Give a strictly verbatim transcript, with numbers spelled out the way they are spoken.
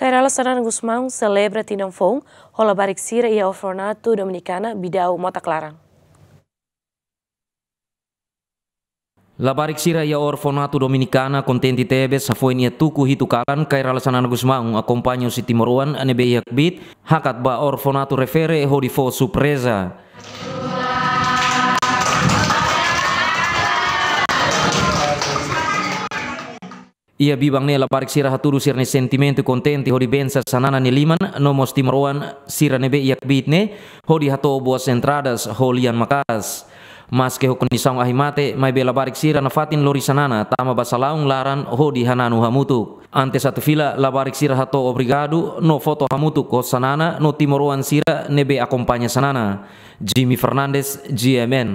Kay Rala Xanana Gusmão selebra tinan foun ho labarik sira iha Orfanatu Dominikana Bidau Mota Klaran. Labarik sira iha Orfanatu Dominikana kontente tebes hafoin iha tuku hitu kalan Kay Rala Xanana Gusmão akompaña husi timoroan ne'ebé iha kbiit hakat ba orfanatu refere hodi fó surpreza. Iha biban ne'e labarik sira hatudu sira-nia sentimentu kontente hodi bensa Xanana nia liman no mós timoroan sira ne'ebé iha kbiit ne'e hodi hato'o boas entradas ho lian maka'as. Maske ho kondisaun ahi mate, maibé labarik sira nafatin lori Xanana tama ba salaun laran hodi hananu hamutuk. Antes atu fila, labarik sira hato'o obrigadu no foto hamutuk ho Xanana no timoroan sira ne'ebé akompaña Xanana. Jimmy Fernandes, G M N.